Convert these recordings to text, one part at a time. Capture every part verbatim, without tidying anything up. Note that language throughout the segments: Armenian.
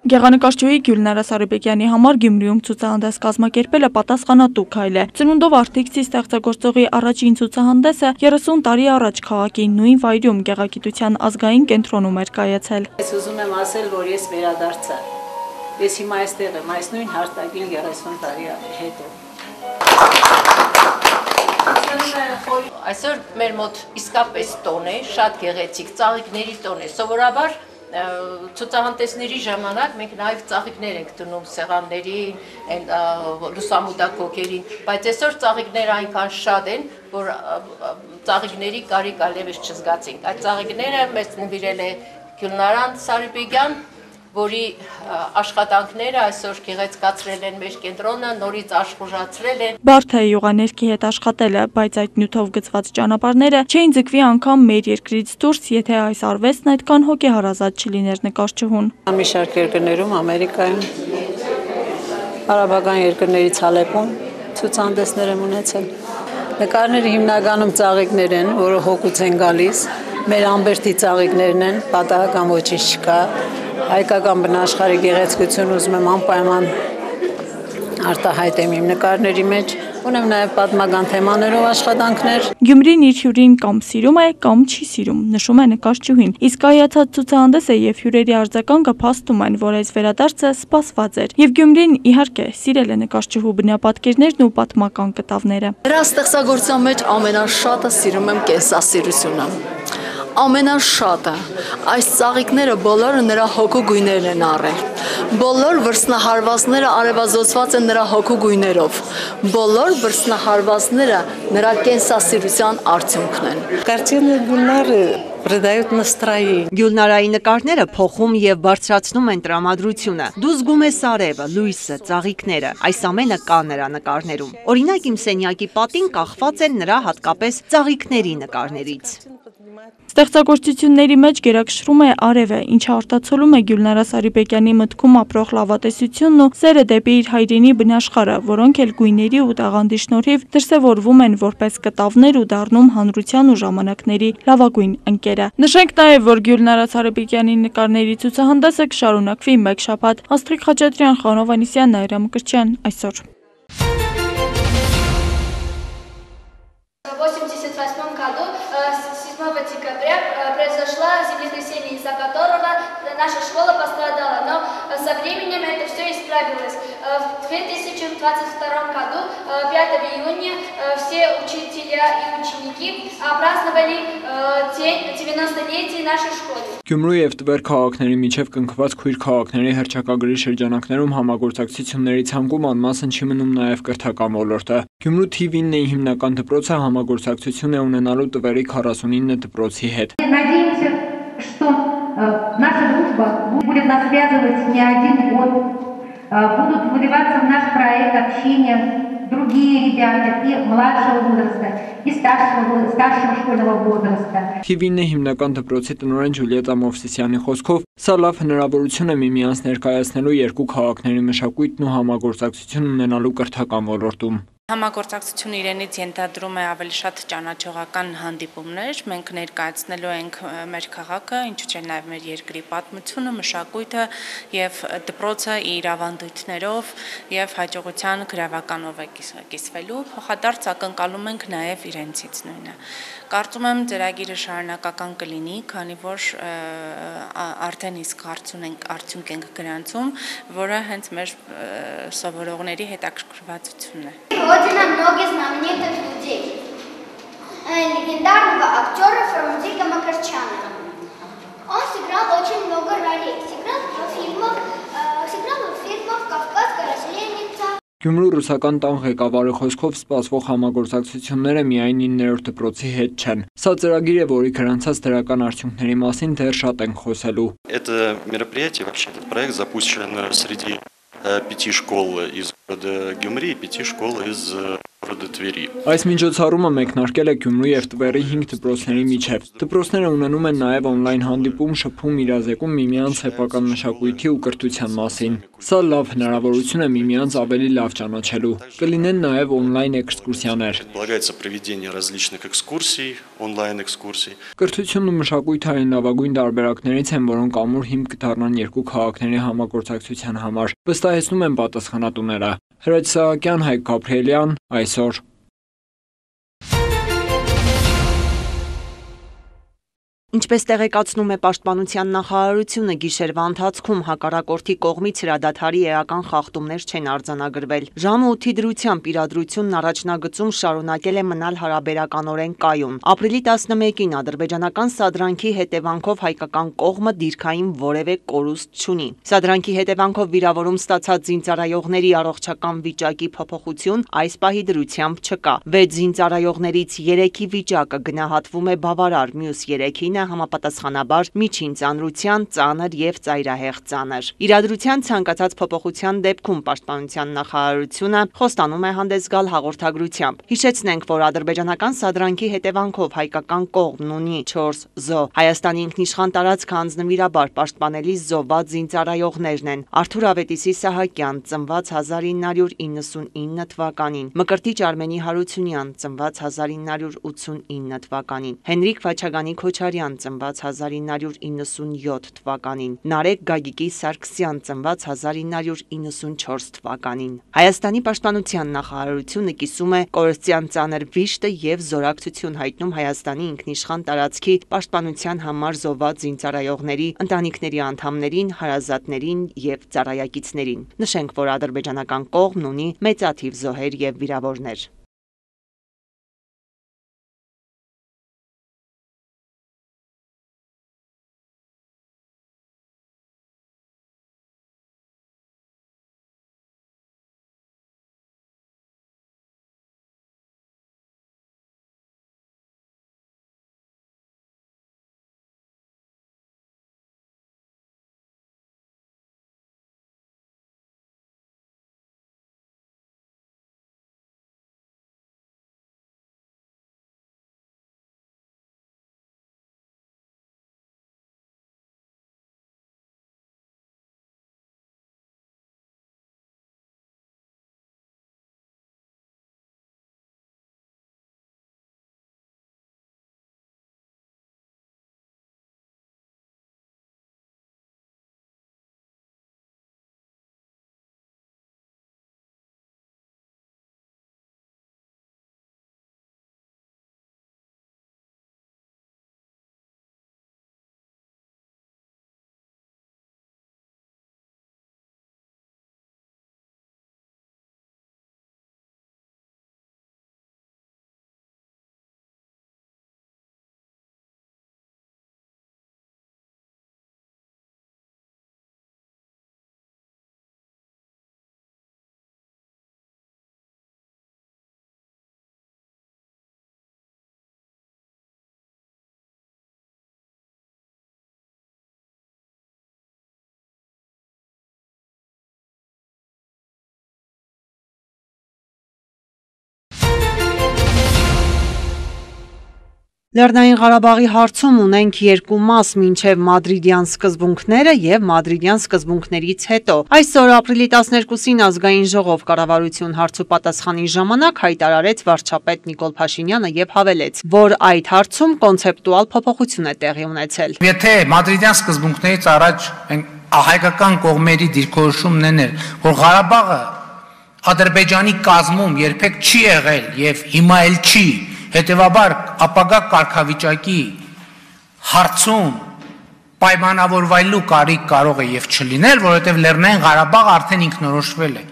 Գեղանկարչուհի Գյուլնարա Սարիբեկյանի համար Գյումրիում ցուցահանդես կազմակերպելը պատասխանատու քայլ է։ Ծնունդով Artix-ի ստեղծագործողի առաջին ցուցահանդեսը երեսուն տարի առաջ քաղաքի նույն վայրում Գեղագիտության ազգային կենտրոնում էր կայացել։ Ես ուզում եմ ասել, որ ես վերադարձա։ Ես հիմա այստեղ եմ, այս նույն հարտակին երեսուն տարի հետո։ Այսօր մեր մոտ իսկապես տոն է, շատ գեղեցիկ ծաղիկների տոն է։ Սովորաբար ցուցահանդեսների ժամանակ մենք նաև ծաղիկներ ենք դնում սեղաններին, լուսամուտակոկերին, բայց այսօր ծաղիկները այնքան շատ են, որ ծաղիկների կարիք այլևս չզգացինք։ Այդ ծաղիկները մեզ նվիրել է Գյուլնարան Սարիբեկյան, որի աշխատանքները այսօր գեղեցկացրել են մեր կենտրոնը, նորից աշխուժացրել են։ Բարդ է յուղաներկի հետ աշխատելը, բայց այդ նյութով գծված ճանապարհները չէին ձգվի անգամ մեր երկրից դուրս, եթե այս արվեստն այդքան հոգեհարազատ չլիներ նկարչուհուն։ Մի շարք երկրներում, Ամերիկայում, արաբական երկրներից Ալեպում ցուցահանդեսներ եմ ունեցել։ Նկարները հիմնականում ծաղիկներ են, որը հոգուց են գալիս, մեր ամբերտի ծաղիկներն են, պատահական ոչինչ չկա։ Հայկական բնաշխարհի գեղեցկություն ուզում եմ անպայման արտահայտեմ իմ նկարների մեջ, ունեմ նաև պատմական թեմաներով աշխատանքներ։ Գյումրին իր հյուրին կամ սիրում է, կամ չի սիրում, նշում է նկարչուհին։ Իսկ կայացած ցուցահանդեսը եւ հյուրերի արձագանքը փաստում են, որ այս վերադարձը սպասված էր։ Եվ Գյումրին, իհարկե, սիրել է նկարչուհու բնապատկերներն ու պատմական կտավները։ Նրա ստեղծագործության մեջ ամենաշատը սիրում եմ կենսասիրությունը։ Ամենաշատը այս ծաղիկները բոլորը նրա հոգու գույներն են առել։ Բոլոր վրձնահարվածները արևազոսված են նրա հոգու գույներով։ Բոլոր վրձնահարվածները նրա կենսասիրության արդյունքն են։ Կարտինը Գյուլնարը придают настроение։ Գյուլնարայի նկարները փոխում եւ բարձրացնում են տրամադրությունը։ Դու զգում ես արևը, լույսը, ծաղիկները։ Այս ամենը կա նրա նկարներում։ Օրինակ իմ սենյակի պատին կախված են նրա հատկապես ծաղիկների նկարներից։ Ստեղծագործությունների մեջ գերակշռում է արևը, ինչը արտացոլում է Գյուլնարա Սարիբեկյանի մտքում ապրող լավատեսությունն ու սերը դեպի իր հայրենի բնաշխարհը, որոնք էլ գույների ու տաղանդի շնորհիվ դրսևորվում են որպես կտավներ ու դառնում հանրության ու ժամանակների լավագույն ընկերը։ Նշենք նաև, որ Գյուլնարա Սարիբեկյանի նկարների ցուցահանդեսը կշարունակվի մեկ շաբաթ։ Աստղիկ Խաչատրյան, Խանո Վանեսյան, Նաիրա Մկրտչյան, այսօր։ восемьдесят восьмом году, седьмого декабря, произошло землетрясение, из-за которого наша школа пострадала, но со временем это все исправилось. В две тысячи двадцать втором году, пятого июня, все учителя и ученики праздновали день девяностолетия нашей школы. Գյումրու եւ Տվեր քաղաքների միջև կնքված քույր քաղաքների հռչակագրի շրջանակներում համագործակցությունների ցանկում անմասն չի մնում նաեւ կրթական ոլորտը։ Գյումրու Թիվ ինը հիմնական դպրոցը համագործակցություն է ունենալու Տվերի քառասունինը դպրոցի հետ։ Надеемся, что наша дружба будет нас связывать не один год, будут вливаться в наш проект общения другие ребята и младшего возраста, и старшего, старшего школьного возраста. Թիվ ինը հիմնական դպրոցի տնօրեն Ջուլիետա Մովսիսյանի խոսքով, սա լավ հնարավորություն է միմյանց ներկայացնելու երկու քաղաքների մշակույթն ու համագործակցություն ունենալու կրթական ոլորտում։ Համագործակցությունը իրենից ենթադրում է ավելի շատ ճանաչողական հանդիպումներ, մենք ներկայացնելու ենք մեր քաղաքը, ինչու՞ չէ նաև մեր երկրի պատմությունը, մշակույթը եւ դպրոցը իր ավանդույթներով եւ հաջողության գրավականով է կիսվելու, փոխադարձ ակնկալում ենք նաև իրենցից նույնը։ Կարծում եմ ծրագիրը շարունակական կլինի, քանի որ արդեն իսկ արդյունք ենք գրանցում, որը հենց մեր սովորողների հետաքրքրվածությունն է։ Родина многих знаменитых людей. Легендарного актера Фармадика Макарчана. Он сыграл очень много ролей. Сыграл в фильмах, сыграл в фильмах «Кавказская расленница». Գյումրու ռուսական տան ղեկավարի խոսքով սպասվող համագործակցությունները միայն իններորդ դպրոցի հետ չեն։ Սա ծրագիր է, որի գրանցած դրական արդյունքների մասին դեռ շատ ենք խոսելու։ Это мероприятие, вообще этот проект запущен среди пяти школ из города Гюмри и пяти школ из Այս միջոցառումը մեկնարկել է Գյումրու և Տվերի հինգ դպրոցների միջև։ Դպրոցները ունենում են նաև օնլայն հանդիպում, շփում, իրազեկում միմյանց սեփական մշակույթի ու կրթության մասին։ Սա լավ հնարավորություն է միմյանց ավելի լավ ճանաչելու։ Կլինեն նաև օնլայն էքսկուրսիաներ։ Կրթությունն ու մշակույթը այն լավագույն տարբերակներից են, որոնք ամուր հիմք կդառնան երկու քաղաքների համագործակցության համար, վստահեցնում են պատասխանատուները։ Հրաչ Սահակյան, Հայկ Գաբրիելյան, այսօր։ Ինչպես տեղեկացնում է Պաշտպանության նախարարությունը, գիշերվա ընթացքում հակառակորդի կողմից հրադադարի էական խախտումներ չեն արձանագրվել։ Ժամը ութի դրությամբ իրադրությունն առաջնագծում շարունակել է մնալ հարաբերականորեն կայուն։ Ապրիլի տասնմեկին ադրբեջանական սադրանքի հետևանքով հայկական կողմը դիրքային որևէ կորուստ չունի։ Սադրանքի հետևանքով վիրավորում ստացած զինծառայողների առողջական վիճակի փոփոխություն այս պահի դրությամբ չկա։ Վեց զինծառայողներից երեքի վիճակը գնահատվում է բավարար, մյուս երեքին համապատասխանաբար միջին ծանրության, ծանր և ծայրահեղ ծանր։ Իրադրության ցանկացած փոփոխության դեպքում Պաշտպանության նախարարությունը խոստանում է հանդես գալ հաղորդագրությամբ։ Հիշեցնենք, որ ադրբեջանական սադրանքի հետևանքով հայկական կողմն ունի չորս զոհ։ Հայաստանի ինքնիշխան տարածքը անձնվիրաբար պաշտպանելի զոհված զինծառայողներն են՝ Արթուր Ավետիսի Սահակյան, ծնված հազար ինը հարյուր իննսունինը թվականին, Մկրտիչ Արմենի Հարությունյան, ծնված հազար ինը հարյուր ութսունինը թվականին, Հենրիկ Վաչագանի Քոչարյան, ծնված հազար ինը հարյուր իննսունյոթ թվականին, Նարեկ Գագիկի Սարգսյան, ծնված հազար ինը հարյուր իննսունչորս թվականին։ Հայաստանի պաշտպանության նախարարությունը կիսում է կորստյան ծանր վիշտը և զորակցություն հայտնում Հայաստանի ինքնիշխան տարածքի պաշտպանության համար զոհված զինծառայողների ընտանիքների անդամներին, հարազատներին և ծառայակիցներին։ Նշենք, որ ադրբեջանական կողմն ունի մեծաթիվ զոհեր և վիրավորներ։ Լեռնային Ղարաբաղի հարցում ունենք երկու մաս՝ մինչև մադրիդյան սկզբունքները և մադրիդյան սկզբունքներից հետո։ Այսօր ապրիլի տասներկուսին ազգային ժողով կառավարություն հարցուպատասխանի ժամանակ հայտարարեց վարչապետ Նիկոլ Փաշինյանը և հավելեց, որ այդ հարցում կոնցեպտուալ փոփոխություն է տեղի ունեցել։ Եթե մադրիդյան սկզբունքներից առաջ հայկական կողմերի դիրքորոշումն էր, որ Ղարաբաղը Ադրբեջանի կազմում երբեք չի եղել և հիմա էլ չի, հետևաբար ապագա կարգավիճակի հարցում պայմանավորվելու կարիք կարող է և չլիներ, որովհետև Լեռնային Ղարաբաղը արդեն ինքնորոշվել է։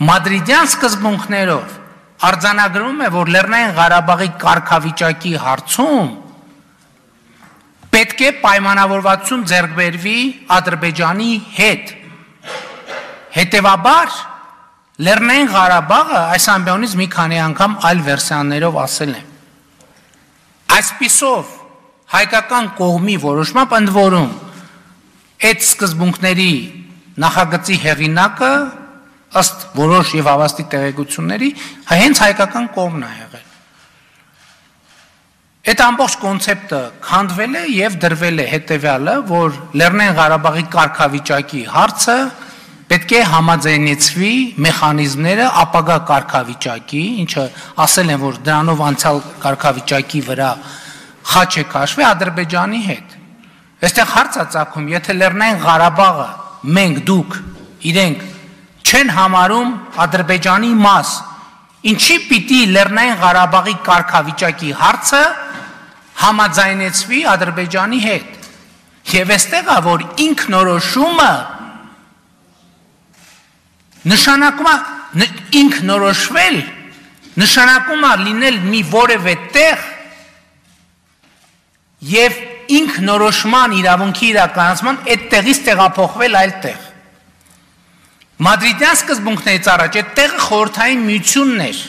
Մադրիդյան սկզբունքներով արձանագրվում է, որ Լեռնային Ղարաբաղի կարգավիճակի հարցում պետք է պայմանավորվածություն ձեռք բերվի Ադրբեջանի հետ։ Հետևաբար Լեռնային Ղարաբաղը այս ամբիոնից մի քանի անգամ այլ վերսիաներով ասել է։ Այսպիսով հայկական կողմի որոշմամբ ընդ որում այդ սկզբունքների նախագծի հեղինակը ըստ որոշ եւ հավաստի տեղեկությունների հենց հայկական կողմն է եղել։ Այդ ամբողջ կոնցեպտը քանդվել է եւ դրվել է հետեւյալը, որ Լեռնային Ղարաբաղի կարգավիճակի հարցը պետք է համաձայնեցվի մեխանիզմները ապագա կարգավիճակի, ինչը ասել են, որ դրանով անցյալ կարգավիճակի վրա խաչ է քաշվի Ադրբեջանի հետ։ Այստեղ հարց է ծագում, եթե Լեռնային Ղարաբաղը մենք դուք իրենք չեն համարում Ադրբեջանի մաս, ինչի պիտի Լեռնային Ղարաբաղի կարգավիճակի հարցը համաձայնեցվի Ադրբեջանի հետ։ Եվ այստեղ է, որ ինքնորոշումը նշանակում է ինքնորոշվել, նշանակում է լինել մի որևէ տեղ եւ ինքնորոշման իրավունքի իրականացման այդ տեղից տեղափոխվել այլ տեղ։ Մադրիդյան սկզբունքներից առաջ այդ տեղը խորհրդային միությունն էր։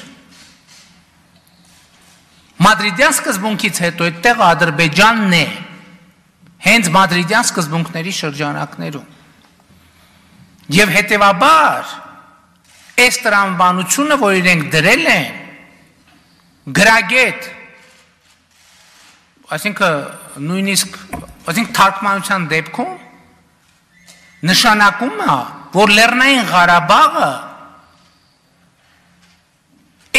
Մադրիդյան սկզբունքից հետո այդ տեղը Ադրբեջանն է, հենց Մադրիդյան սկզբունքների շրջանակներում։ Եվ հետևաբար այս տրամաբանությունը, որ իրենք դրել են, գրագետ, այսինքն նույնիսկ, այսինքն թարգմանության դեպքում նշանակում է, որ Լեռնային Ղարաբաղը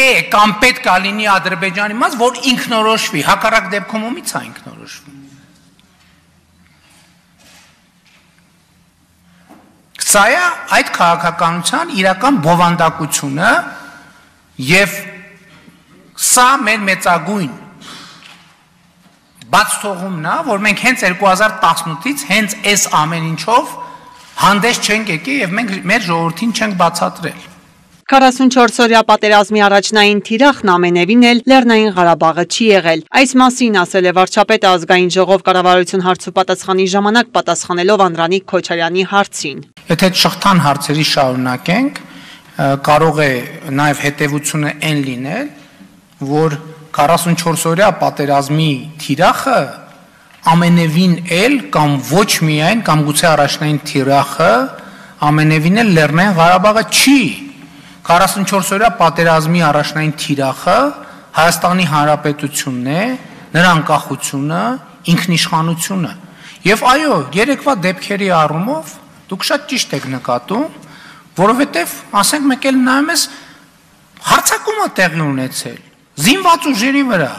է կամ պետք է լինի Ադրբեջանի մաս, որ ինքնորոշվի, հակառակ դեպքում ումից է ինքնորոշվում։ Սա է այդ քաղաքականության իրական բովանդակությունը եւ սա մեր մեծագույն բաց թողումն է, որ մենք հենց երկու հազար տասնութից հենց այս ամեն ինչով հանդես չենք եկել եւ մենք մեր ժողովրդին չենք բացատրել։ քառասունչորս-օրյա պատերազմի առաջնային թիրախն ամենևին էլ Լեռնային Ղարաբաղը չի եղել։ Այս մասին ասել է վարչապետը ազգային ժողով կառավարություն հարցու պատասխանի ժամանակ պատասխանելով Անդրանիկ Քոչարյանի հարցին։ Եթե այդ շղթան հարցերի շարունակենք, կարող է նաեւ հետեւությունը այն լինել, որ քառասունչորս-օրյա պատերազմի թիրախը ամենևին էլ կամ ոչ միայն կամ գուցե առաջնային թիրախը ամենևին էլ Լեռնային Ղարաբաղը չի։ քառասունչորս-օրյա պատերազմի առաջնային թիրախը Հայաստանի Հանրապետությունն է, նրա անկախությունը, ինքնիշխանությունը։ Եվ այո, երեկվա դեպքերի առումով դուք շատ ճիշտ եք նկատում, որովհետև, ասենք մեկ էլ նայում ես, հարձակում է տեղի ունեցել զինված ուժերի վրա։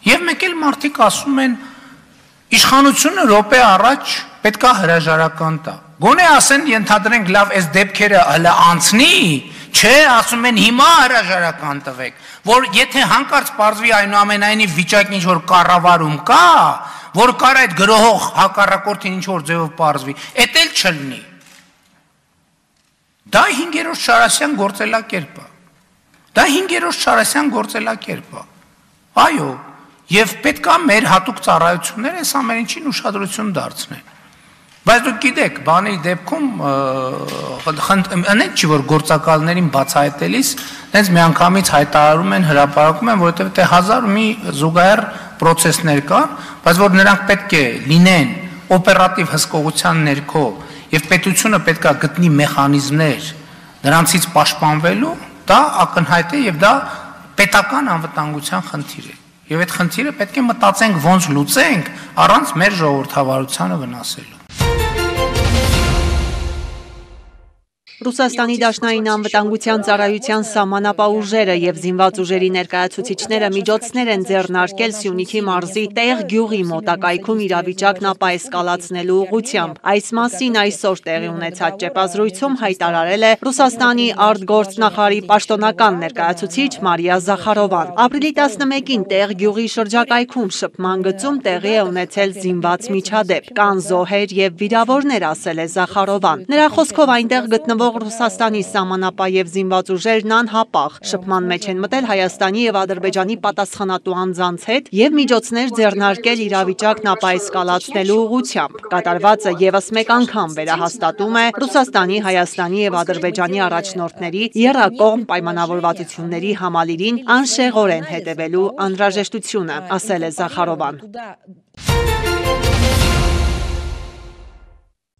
Եվ մեկ էլ մարդիկ ասում են, իշխանությունը րոպե առաջ պետք է հրաժարական տա։ Գոնե ասեն, ենթադրենք լավ, այս դեպքերը հələ անցնի, չէ, ասում են հիմա հրաժարական տվեք, որ եթե հանկարծ պարզվի այնուամենայնիվ վիճակն ինչ որ կառավարում կա, որ կար այդ գրոհող հակառակորդին ինչ որ ձևով պարզվի, էդ էլ չլինի։ Դա հինգերորդ Շարասյան գործելակերպ է։ Դա հինգերորդ Շարասյան գործելակերպ է։ Այո, եւ պետք է մեր հատուկ ծառայությունները այս ամեն ինչին ուշադրություն դարձնեն։ Բայց դուք գիտեք, բանի դեպքում անենք չի որ գործակալներին բացահայտելիս հենց միանգամից հայտարարում են, հրապարակում են, որովհետև դե հազար ու մի զուգահեռ process-ներ կան, բայց որ նրանք պետք է լինեն օպերատիվ հսկողության ներքո եւ պետությունը պետք է գտնի մեխանիզմներ նրանցից պաշտպանվելու, դա ակնհայտ է եւ դա պետական անվտանգության խնդիր է։ Եվ այդ խնդիրը պետք է մտածենք ոնց լուծենք առանց մեր ժողովրդավարությանը վնասելու։ Ռուսաստանի Դաշնային անվտանգության ծառայության սահմանապահուժերը եւ զինված ուժերի ներկայացուցիչները միջոցներ են ձեռնարկել Սյունիքի մարզի Տեղ գյուղի մոտակայքում իրավիճակն ապաեսկալացնելու ուղղությամբ։ Այս մասին այսօր տեղի ունեցած ճեպազրույցում հայտարարել է Ռուսաստանի արտգործնախարարի պաշտոնական ներկայացուցիչ Մարիա Զախարովան։ Ապրիլի տասնմեկին Տեղ գյուղի շրջակայքում շփման գծում տեղի է ունեցել զինված միջադեպ։ Կան զոհեր եւ վիրավորներ, ասել է Զախարովան։ Նրա խոսքով այնտեղ գտնվող Ռուսաստանի սահմանապահ եւ զինված ուժերն անհապաղ շփման մեջ են մտել Հայաստանի եւ Ադրբեջանի պատասխանատու անձանց հետ եւ միջոցներ ձեռնարկել իրավիճակն ապաեսկալացնելու ուղղությամբ։ Կատարվածը եւս մեկ անգամ վերահաստատում է Ռուսաստանի, Հայաստանի եւ Ադրբեջանի առաջնորդների եռակողմ պայմանավորվածությունների համալիրին անշեղորեն հետևելու անհրաժեշտությունը, ասել է Զախարովան։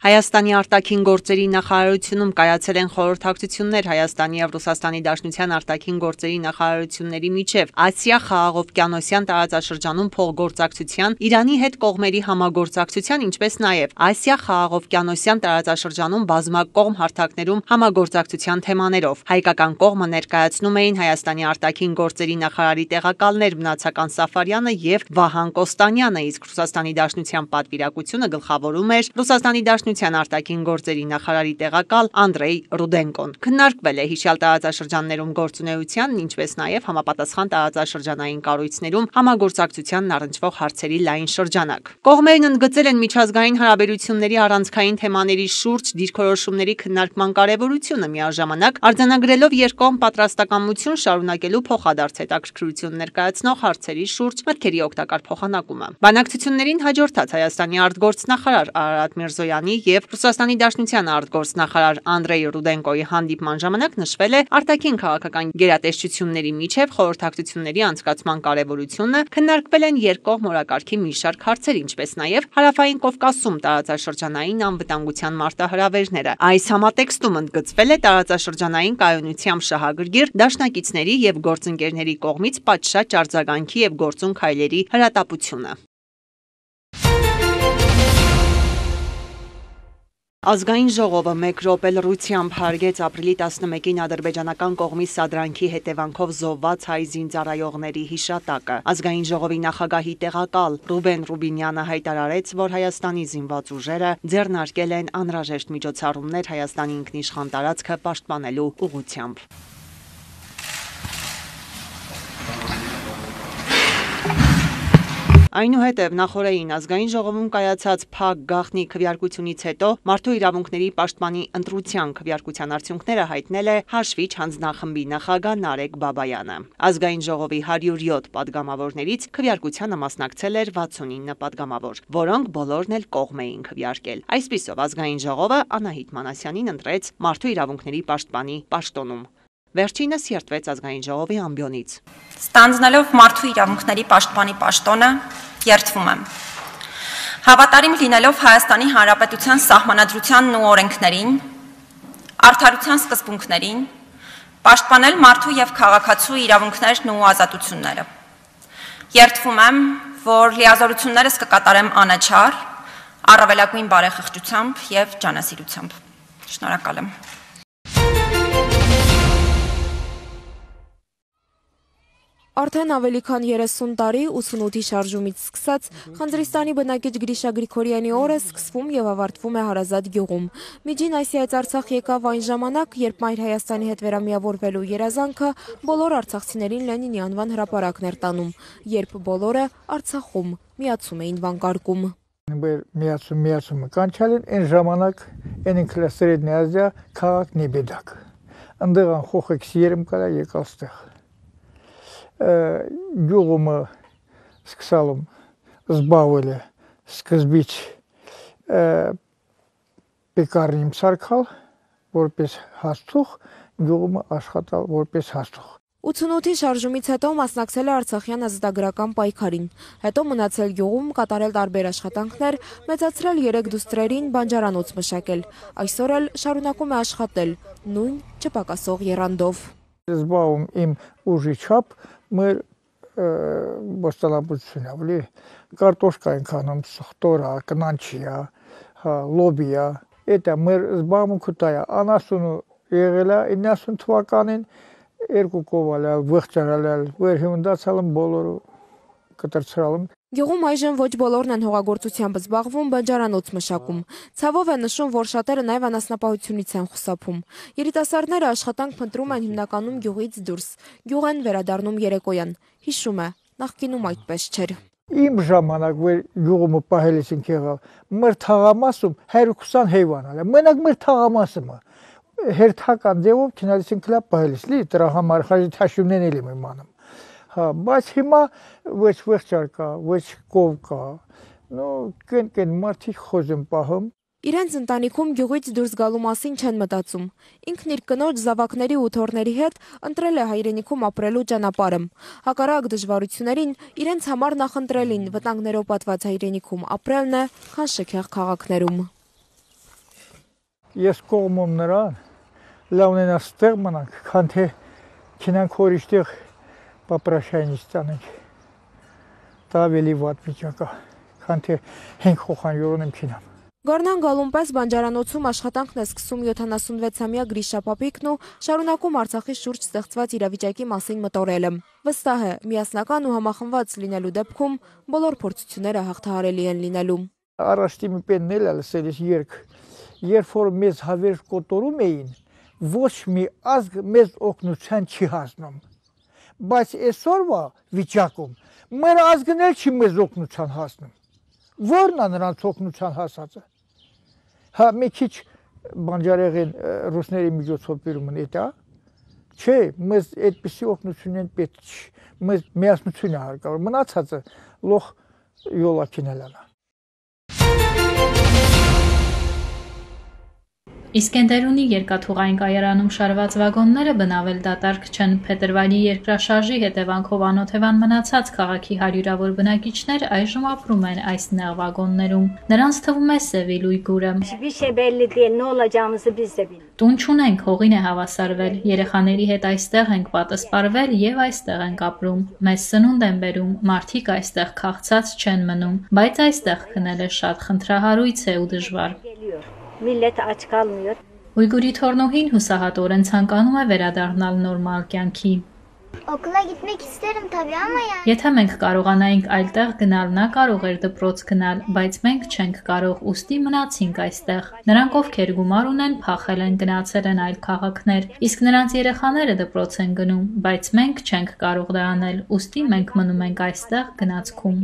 Հայաստանի արտաքին գործերի նախարարությունում կայացել են խորհրդակցություններ Հայաստանի եւ Ռուսաստանի Դաշնության արտաքին գործերի նախարարությունների միջև Ասիա խաղաղօվկիանոսյան տարածաշրջանում փոխգործակցության, Իրանի հետ կողմերի համագործակցության, ինչպես նաեւ Ասիա խաղաղօվկիանոսյան տարածաշրջանում բազմակողմ հարթակներում համագործակցության թեմաներով։ Հայկական կողմը ներկայացնում էին Հայաստանի արտաքին գործերի նախարարի տեղակալներ Մնացական Սաֆարյանը եւ Վահան Կոստանյանը, իսկ Ռուսաստանի Դաշնության պատվիրակությունը գլխավորում էր Ռուսաստանի Դաշնության արտաքին գործերի նախարարի տեղակալ Անդրեյ Ռուդենկոն։ Քննարկվել է հիշյալ տարածաշրջաններում գործունեությանն, ինչպես նաեւ համապատասխան տարածաշրջանային կառույցներում համագործակցությանն առնչվող հարցերի լայն շրջանակ։ Կողմերն ընդգծել են միջազգային հարաբերությունների առանցքային թեմաների շուրջ դիրքորոշումների քննարկման կարևորությունը, միաժամանակ արձանագրելով երկկողմ պատրաստակամություն շարունակելու փոխադարձ հետաքրքրություն ներկայացնող հարցերի շուրջ մտքերի օգտակար փոխանակումը։ Բանակցություններին հաջորդած Հայաստանի արտգործնախարար Արարատ Միրզոյանի եւ Ռուսաստանի Դաշնության արտգործնախարար Անդրեյ Ռուդենկոյի հանդիպման ժամանակ նշվել է արտաքին քաղաքական գերատեսչությունների միջև խորհրդակցությունների անցկացման կարևորությունը, քննարկվել են երկկողմ օրակարգի մի շարք հարցեր, ինչպես նաեւ Հարավային Կովկասում տարածաշրջանային անվտանգության մարտահրավերները։ Այս համատեքստում ընդգծվել է տարածաշրջանային կայունությամբ շահագրգիռ դաշնակիցների եւ գործընկերների կողմից պատշաճ արձագանքի եւ գործուն քայլերի հրատապությունը։ Ազգային ժողովը մեկ րոպե լռությամբ հարգեց ապրիլի տասնմեկին ադրբեջանական կողմի սադրանքի հետևանքով զոհված հայ զինծառայողների հիշատակը։ Ազգային ժողովի նախագահի տեղակալ Ռուբեն Ռուբինյանը հայտարարեց, որ Հայաստանի զինված ուժերը ձեռնարկել են անհրաժեշտ միջոցառումներ Հայաստանի ինքնիշխան տարածքը պաշտպանելու ուղղությամբ։ Այնուհետև նախորդին ազգային ժողովում կայացած փակ գաղտնի քվեարկությունից հետո Մարդու իրավունքների պաշտպանի ընտրության քվեարկության արդյունքները հայտնել է Հաշվիչ հանձնախմբի նախագահ Նարեկ Բաբայանը։ Ազգային ժողովի հարյուր յոթ պատգամավորներից քվեարկությանը մասնակցել էր վաթսունինը պատգամավոր, որոնք բոլորն էլ կողմ էին քվեարկել։ Այսպիսով ազգային ժողովը Անահիտ Մանասյանին ընտրեց Մարդու իրավունքների պաշտպանի պաշտոնում։ Վերջինս երդվեց ազգային ժողովի ամբիոնից։ Ստանձնելով Մարդու իրավունքների պաշտպանի պաշտոնը, երդվում եմ հավատարիմ լինելով Հայաստանի Հանրապետության սահմանադրությանն ու օրենքներին, արդարության սկզբունքներին, պաշտպանել մարդու եւ քաղաքացու իրավունքներն ու ազատությունները։ Երդվում եմ, որ լիազորություններս կկատարեմ անաչառ, առավելագույն բարեխղճությամբ եւ ջանասիրությամբ։ Շնորհակալ եմ։ Արդեն ավելի քան երեսուն տարի ութսունութի շարժումից սկսած Խանձրիստանի բնակիչ Գրիշա Գրիգորյանի օրը սկսվում եւ ավարտվում է Հարազատ գյուղում։ Միջին Ասիայից Արցախ եկավ այն ժամանակ, երբ Մայր Հայաստանի հետ վերամիավորվելու երազանքը բոլոր արցախցիներին Լենինի անվան հրապարակն էր տանում, երբ բոլորը Արցախում միացում էին վանկարկում։ Միացում միացումը կանչալին այն ժամանակ այն ինքլա Սրեդնի Ազիա քաղաք Նեբեդակ։ Անդեղան խոխեքս երեմ կարա եկալ ստեղ։ Գյուղումը սկսալում զբաղվել է սկզբից պեկարնիմ սարքալ, որպես հաստուղ, գյուղումը աշխատալ որպես հաստուղ։ ութսունութի շարժումից հետո մասնակցել է Արցախյան ազատագրական պայքարին, հետո մնացել գյուղում, կատարել տարբեր աշխատանքներ, մեծացրել երեք դուստրերին, բանջարանոց մշակել, այսօր էլ շարունակում է աշխատել, նույն չպակասող եռանդով։ Զբաղում իմ ուժի չափ մեր բոստանաբուծությունն ավելի կարտոշկա ենք անում, սխտորա, կնանչիա, լոբիա, դա մեր զբաղմունքը դա է, անասունը եղել է իննասուն թվականին, երկու կովալալ, վղճարալալ, վերհիմնդացալım բոլորը կտրցրալım։ Գյուղում այժմ ոչ բոլորն են հողագործությամբ զբաղվում, բանջարանոց մշակում։ Ցավով է նշում, որ շատերը նաև անասնապահությունից են խուսափում։ Երիտասարդները աշխատանք փնտրում են հիմնականում գյուղից դուրս։ Գյուղ են վերադառնում երեկոյան։ Հիշում է, նախկինում այդպես չէր։ Իմ ժամանակ որ գյուղումը պահելիս ենք եղալ, մեր թաղամասում հերոս քսան հեյվան ալ։ Մենակ մեր թաղամասը հերթական ձևով քնալիս ենք լա պահելիս, լի դրա համար խաժիթաշումներն էլ եմ իմանում։ Հա, բայց հիմա ոչ վղճար կա, ոչ կով կա, նո կեն-կեն մարդիկ խոզ են պահում։ Իրենց ընտանիքում գյուղից դուրս գալու մասին չեն մտածում։ Ինքն իր կնոջ զավակների ու թոռների հետ ընտրել է հայրենիքում ապրելու ճանապարհը։ Հակառակ դժվարություններին իրենց համար նախընտրելին վտանգներով պատված հայրենիքում ապրելն է, քան շքեղ քաղաքներում։ Ես կողմում նրան լավ ունենա ստեղ մնանք, քան թե քինանք հորիշտեղ պապրաշայնից տանենք։ Դա ավելի վատ վիճակ է, քան թե հենք խոխանյորոն եմ քինամ։ Գառնան գալուն պես բանջարանոցում աշխատանքն է սկսում յոթանասունվեցամյա Գրիշա Պապիկն ու շարունակում Արցախի շուրջ ստեղծված իրավիճակի մասին մտորելը։ Վստահ է, միասնական ու համախմբված լինելու դեպքում բոլոր փորձությունները հաղթահարելի են լինելու։ Առաջի մի պենն էլ լսել ես երգ, երբ որ մեզ հավերժ կոտորում էին, ոչ մի ազգ մեզ օգնության չի հասնում։ Բայց այսօրվա վիճակում մեր ազգն էլ չի մեզ օգնության հասնում։ Որն է նրանց օգնության հասածը։ Հա մի քիչ բանջարեղեն ռուսների միջոցով բերում են դա, չէ, մեզ այդպիսի օգնություն են պետք չի, մեզ միասնություն է հարկավոր, մնացածը լոխ յոլակին էլ է։ Իսկենդերունի երկաթուղային կայարանում շարված վագոնները բնավել դատարկ չեն։ Փետրվարի երկրաշարժի հետևանքով անօթևան մնացած քաղաքի հարյուրավոր բնակիչներ այժմ ապրում են այս նեղ վագոններում։ Նրանց թվում է Սևիլույ գուրը։ Տուն չունենք, հողին է հավասարվել, երեխաների հետ այստեղ ենք պատասպարվել եւ այստեղ ենք ապրում։ Մեզ սնունդ են բերում, մարդիկ այստեղ քաղցած չեն մնում, բայց այստեղ քնել է շատ խնդրահարույց է ու դժվար։ Millet aç kalmıyor. Ույգուրի թորնուհին հուսահատորեն ցանկանում է վերադառնալ նորմալ կյանքի։ Okula gitmek isterim tabii ama yani. Եթե մենք կարողանայինք այլտեղ գնալ, նա կարող էր դպրոց գնալ, բայց մենք չենք կարող, ուստի մնացինք այստեղ։ Նրանք ովքեր գումար ունեն, փախել են, գնացել են այլ քաղաքներ, իսկ նրանց երեխաները դպրոց են գնում, բայց մենք չենք կարող դա անել, ուստի մենք մնում ենք այստեղ գնացքում։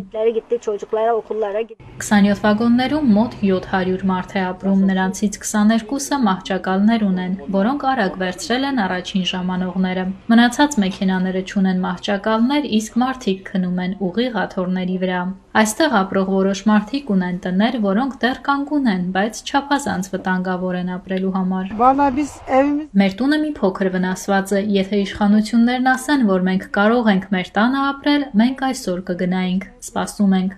քսանյոթ վագոններում մոտ յոթ հարյուր մարդ է ապրում, նրանցից քսաներկուսը մահճակալներ ունեն, որոնք արագ վերցրել են առաջին ժամանողները։ Մնացած մեքենաները չունեն մահճակալներ, իսկ մարդիկ քնում են ուղիղ աթոռների վրա։ Այստեղ ապրող որոշ մարդիկ ունեն տներ, որոնք դեռ կանգուն են, բայց չափազանց վտանգավոր են ապրելու համար։ Մեր տունը մի փոքր վնասված է, եթե իշխանություններն ասեն, որ մենք կարող ենք մեր տանը ապրել, մենք այսօր կգնայինք, սպասում ենք։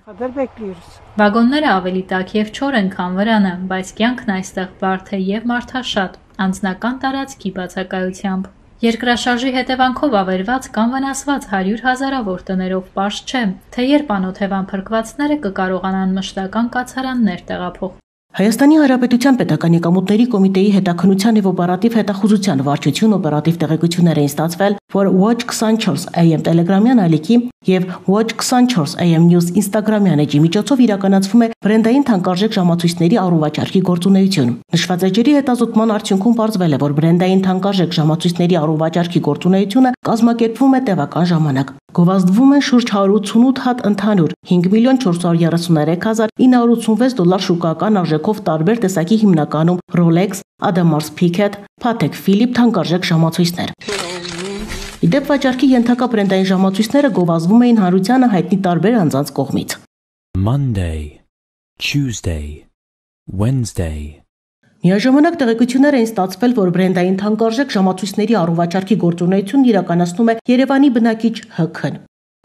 Վագոնները ավելի տաք եւ չոր են, քան վրանը, բայց կյանքն այստեղ բարդ է եւ մարդաշատ, անձնական տարածքի բացակայությամբ։ Երկրաշարժի հետևանքով ավերված կամ վնասված հարյուր հազարավոր տներով պարզ չէ, թե երբ անօթևան փրկվածները կկարողանան մշտական կացարաններ տեղափոխել։ Հայաստանի Հանրապետության Պետական եկամուտների կոմիտեի հետաքննության եւ օպերատիվ հետախուզության վարչություն օպերատիվ տեղեկություններ էին ստացվել, որ Watch twenty-four A M Telegram-յան ալիքի եւ Watch twenty-four A M News Instagram-յան էջի միջոցով իրականացվում է բրենդային թանկարժեք ժամացույցների առողջարքի գործունեություն։ Նշված էջերի հետազոտման արդյունքում պարզվել է, որ բրենդային թանկարժեք ժամացույցների առողջարքի գործունեությունը կազմակերպվում է տևական ժամանակ։ Գովազդվում են շուրջ one hundred eighty-eight հատ ընդհանուր five million four hundred thirty-three thousand nine hundred eighty-six դոլար շուկական արժեքով տարբեր տեսակի հիմնականում Rolex, Audemars Piguet, Patek Philippe թանկարժեք ժամացույցներ։ Իդեպ վաճառքի ենթակա բրենդային ժամացույցները գովազդվում էին հանրությանը հայտնի տարբեր անձանց կողմից։ Monday, Tuesday, Wednesday. Միաժամանակ տեղեկություններ էին ստացվել, որ բրենդային թանկարժեք ժամացույցների առողջարքի գործունեությունն իրականացնում է Երևանի բնակիչ Հ K-ն։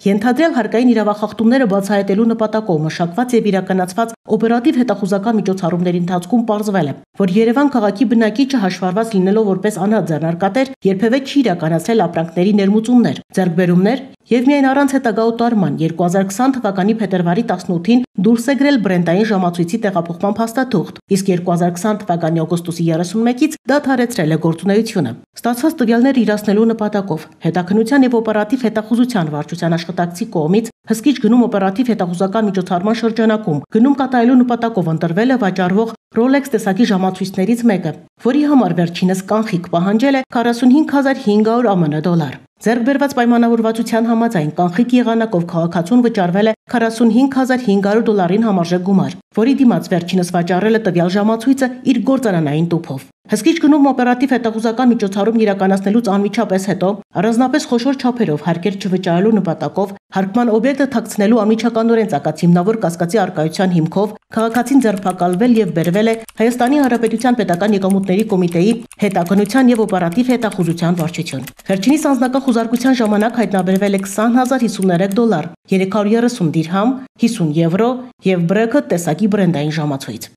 Ենթադրյալ հարկային իրավախախտումները բացահայտելու նպատակով մշակված եւ իրականացված օպերատիվ հետախուզական միջոցառումների ընթացքում պարզվել է, որ Երևան քաղաքի բնակիչը հաշվառված լինելով որպես անհատ ձեռնարկատեր երբևէ չի իրականացրել ապրանքների ներմուծումներ, ձեռքբերումներ եւ միայն առանց հետագա օտարման two thousand twenty թվականի փետրվարի տասնութին դուրս է գրել բրենդային ժամացույցի տեղափոխման փաստաթուղթ, իսկ two thousand twenty թվականի օգոստոսի thirty-first-ից դադարեցրել է գործունեությունը։ Ստացված տվյալները իրացնելու նպատակով հետաքննության եւ օպերատիվ հետախուզության վարչության աշխատակցի կողմից հսկիչ գնում օպերատիվ հետախուզական միջոցառման շրջանակում գնում կատարելու նպատակով ընտրվել է վաճառվող Rolex տեսակի ժամացույցներից մեկը, որի համար վերջինս կանխիկ պահանջել է forty-five thousand five hundred A M N դոլար։ Ձեռք բերված պայմանավորվածության համաձայն կանխիկ եղանակով քաղաքացուն վճարվել է forty-five thousand five hundred դոլարին համարժեք գումար, որի դիմաց վերջինս վաճառել է տվյալ ժամացույցը իր գործարանային տուփով։ Հսկիչ գնում օպերատիվ հետախուզական միջոցառում իրականացնելուց անմիջապես հետո առանձնապես խոշոր չափերով հարկեր չվճարելու նպատակով հարկման օբյեկտը թաքցնելու անմիջականորեն ցակած հիմնավոր կասկածի արկայության հիմքով քաղաքացին ձերբակալվել եւ բերվել է Հայաստանի Հանրապետության Պետական եկամուտների կոմիտեի հետաքննության եւ օպերատիվ հետախուզության վարչություն։ Վերջինիս անձնական խուզարկության ժամանակ հայտնաբերվել է twenty thousand fifty-three դոլար, three hundred thirty դիրհամ, fifty եվրո եւ Bracket տեսակի բրենդային ժամացույց։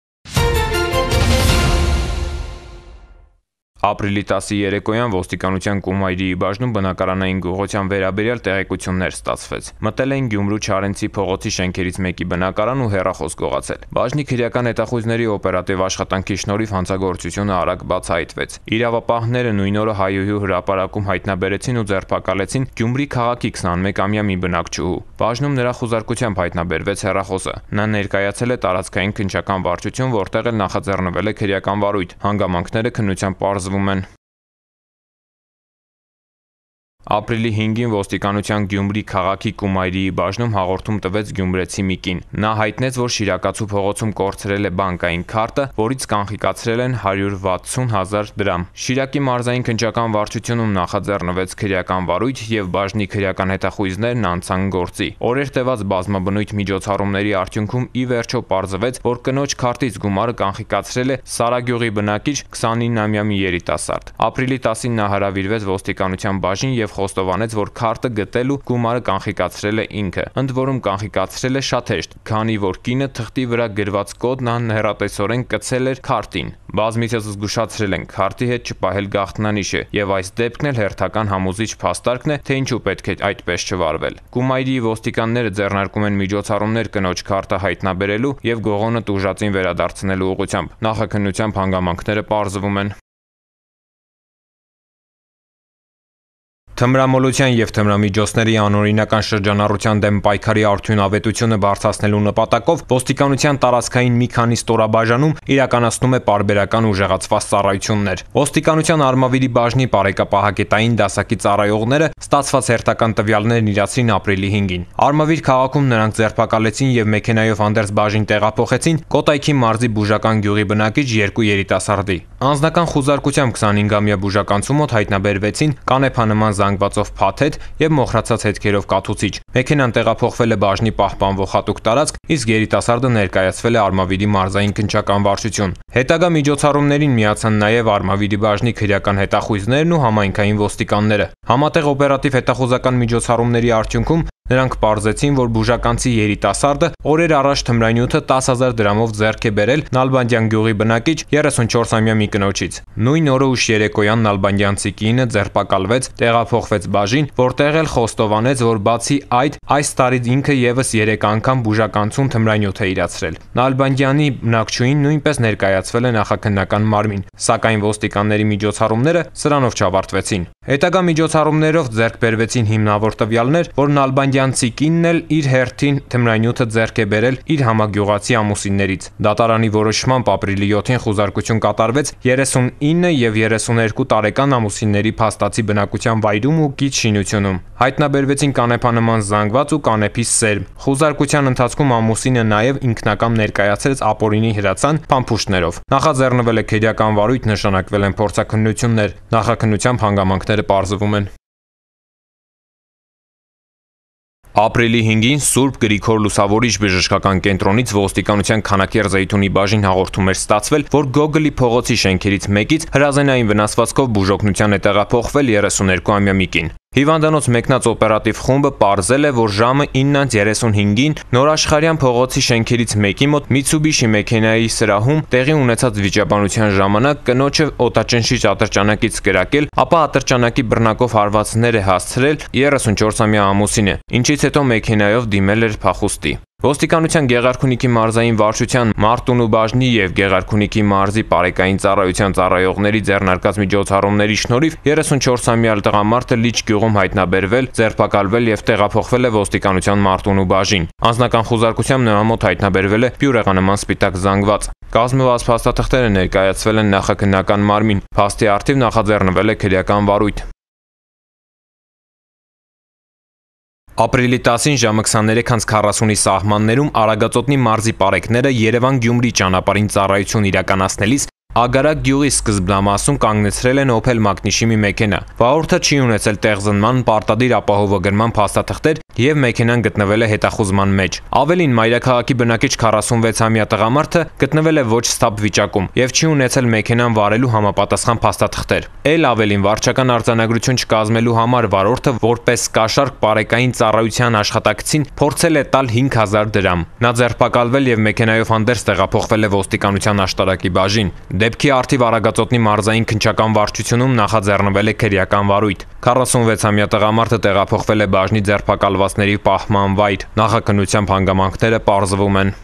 Ապրիլի տասի երեկոյան ոստիկանության Կումայրիի բաժնում բնակարանային գողության վերաբերյալ տեղեկություններ ստացվեց։ Մտել էին Գյումրու Չարենցի փողոցի շենքերից մեկի բնակարան ու հեռախոս գողացել։ Բաժնի քրեական հետախույզների օպերատիվ աշխատանքի շնորհիվ հանցագործությունը արագ բացահայտվեց։ Իրավապահները նույն օրը հայուհու հրապարակում հայտնաբերեցին ու ձերբակալեցին Գյումրի քաղաքի քսանմեկամյա մի բնակչուհու։ Բաժնում նրա խուզարկությամբ հայտնաբերվեց հեռախոսը։ Նա ներկայացել է տարածքային քննչական վարչություն, որտեղ էլ նախաձեռնվել է քրեական վարույթ։ Հանգամանքները քննությամբ պարզվում են։ Ապրիլի հինգին ոստիկանության Գյումրի քաղաքի Կումայրիի բաժնում հաղորդում տվեց գյումրեցի մի կին։ Նա հայտնեց, որ Շիրակացու փողոցում կորցրել է բանկային քարտը, որից կանխիկացրել են հարյուր վաթսուն հազար դրամ։ Շիրակի մարզային քննչական վարչությունում նախաձեռնվեց քրեական վարույթ եւ բաժնի քրեական հետախույզներն անցան գործի։ Օրեր տևած բազմաբնույթ միջոցառումների արդյունքում ի վերջո պարզվեց, որ կնոջ քարտից գումարը կանխիկացրել է Սարագյուղի բնակիչ քսանինամյա մի երիտասարդ։ Ապրիլի տասին նա հրավիրվեց ոստիկանության բաժին եւ խոստովանեց, որ քարտը գտել ու գումարը կանխիկացրել է ինքը։ Ընդ որում կանխիկացրել է շատ հեշտ, քանի որ կինը թղթի վրա գրված կոդն անհեռատեսորեն կցել էր քարտին։ Բազմիցս զգուշացրել են, քարտի հետ չպահել գաղտնանիշ է, եւ այս դեպքն էլ հերթական համոզիչ փաստարկն է, թե ինչու պետք է այդպես չվարվել։ Կումայրիի ոստիկանները ձեռնարկում են միջոցառումներ կնոջ քարտը հայտնաբերելու եւ գողոնը տուժածին վերադարձնելու ուղղությամբ։ Նախաքննությամբ հանգամանքները պարզվում են։ Թմրամոլության եւ թմրամիջոցների անօրինական շրջանառության դեմ պայքարի արդյունավետությունը բարձրացնելու նպատակով ոստիկանության տարածքային մի քանի ստորաբաժանում իրականացնում է պարբերական ուժեղացված ծառայություններ։ Ոստիկանության Արմավիրի բաժնի բարեկապահակետային դասակի ծառայողները ստացված հերթական տվյալներն իրացրին ապրիլի հինգին։ Արմավիր քաղաքում նրանք ձերբակալեցին եւ մեքենայով հանդերձ բաժին տեղափոխեցին Կոտայքի մարզի Բուժական գյուղի բնակիչ երկու երիտասարդի։ Անձնական խուզարկությամբ քսանհինգամյա բուժականցու մոտ հայտնաբերվեցին կանեփանման զանգվածով փաթեթ եւ մոխրացած հետքերով կաթուցիչ։ Մեքենան տեղափոխվել է բաժնի պահպանվող հատուկ տարածք, իսկ երիտասարդը ներկայացվել է Արմավիրի մարզային քննչական վարչություն։ Հետագա միջոցառումներին միացան նաեւ Արմավիրի բաժնի քրեական հետախույզներն ու համայնքային ոստիկանները։ Համատեղ օպերատիվ հետախուզական միջոցառումների արդյունքում նրանք պարզեցին, որ բուժականցի երիտասարդը օրեր առաջ թմրանյութը տասը հազար դրամով ձեռք է բերել Նալբանդյան գյուղի բնակիչ երեսունչորսամյա մի կնոջից։ Նույն օրը ուշ երեկոյան Նալբանդյանցի կինը ձերբակալվեց, տեղափոխվեց բաժին, որտեղ էլ խոստովանեց, որ բացի այդ, այս տարի ինքը եւս երեք անգամ բուժականցուն թմրանյութ է իրացրել։ Նալբանդյանի բնակչուհին նույնպես ներկայացվել է նախաքննական մարմին, սակայն ոստիկանների միջոցառումները սրանով չավարտվեցին։ Հետագա միջոցառումներով ձեռք բերվեցին հիմնավոր տվյալներ, որ Նալբանդյանցի կինն էլ իր հերթին թմրանյութը ձեռք է բերել իր համագյուղացի ամուսիններից։ Դատարանի որոշմամբ ապրիլի յոթին խուզարկություն կատարվեց երեսունինը եւ երեսուներկու տարեկան ամուսինների փաստացի բնակության վայրում ու գիծ շինությունում։ Հայտնաբերվեցին կանեփանման զանգված ու կանեփի սերմ։ Խուզարկության ընթացքում ամուսինը նաեւ ինքնակամ ներկայացրեց ապօրինի հրացան փամփուշտներով։ Նախաձեռնվել է քրեական վարույթ, նշանակվել են փորձաքննություններ։ Նախաքննությամբ հանգամանքները պարզվում են։ Ապրիլի հինգին Սուրբ Գրիգոր Լուսավորիչ բժշկական կենտրոնից ոստիկանության Քանաքեռ Զեյթունի բաժին հաղորդում էր ստացվել, որ Գոգլի փողոցի շենքերից մեկից հրազենային վնասվածքով բուժօգնության է տեղափոխվել երեսուներկուամյա մի կին։ Հիվանդանոց մեկնած օպերատիվ խումբը պարզել է, որ ժամը ինը երեսունհինգին Նորաշխարհյան փողոցի շենքերից մեկի մոտ Միցուբիշի մեքենայի սրահում տեղի ունեցած վիճաբանության ժամանակ կնոջը օտաճնշիչ ատրճանակից կրակել, ապա ատրճանակի բռնակով հարվածներ է հասցրել երեսունչորսամյա ամուսինը, ինչից հետո մեքենայով դիմել էր փախուստի։ Ոստիկանության Գեղարքունիքի մարզային վարչության Մարտունու բաժնի եւ Գեղարքունիքի մարզի բարեկային ծառայության ծառայողների ձեռնարկած միջոցառումների շնորհիվ երեսունչորսամյա տղամարդը Լիճ գյուղում հայտնաբերվել, ձերբակալվել եւ տեղափոխվել է ոստիկանության Մարտունու բաժին։ Անձնական խուզարկությամբ նրա մոտ հայտնաբերվել է բյուրեղանման սպիտակ զանգված։ Կազմված փաստաթղթերը ներկայացվել են նախաքննական մարմին։ Փաստի առթիվ նախաձեռնվել է քրեական վարույթ։ Ապրիլի տասին ժամը քսաներեք անց քառասունի սահմաններում Արագածոտնի մարզի պարեկները Երևան-Գյումրի ճանապարհին ծառայություն իրականացնելիս Ագարակ գյուղի սկզբնամասում կանգնեցրել են Opel Magnishimi մեքենա։ Վարորդը չի ունեցել տեղզնման, պարտադիր ապահովագրման փաստաթղթեր եւ մեքենան գտնվել է հետախուզման մեջ։ Ավելին, մայրաքաղաքի բնակիչ քառասունվեցամյա տղամարդը գտնվել է ոչ ստապ վիճակում եւ չի ունեցել մեքենան վարելու համապատասխան փաստաթղթեր։ Էլ ավելին, վարչական արձանագրություն չկազմելու համար վարորդը որպես կաշառք բարեկային ծառայության աշխատակցին փորձել է տալ հինգ հազար դրամ։ Նա ձերբակալվել եւ մեքենայով հանդերձ տեղափոխվել է ոստիկանության աշտարակի բաժին։ Դեպքի առթիվ Արագածոտնի մարզային քննչական վարչությունում նախաձեռնվել է քրեական վարույթ։ քառասունվեցամյա տղամարդը տեղափոխվել է բաժնի ձերբակալվածների պահման վայր։ Նախաքննությամբ հանգամանքները պարզվում են։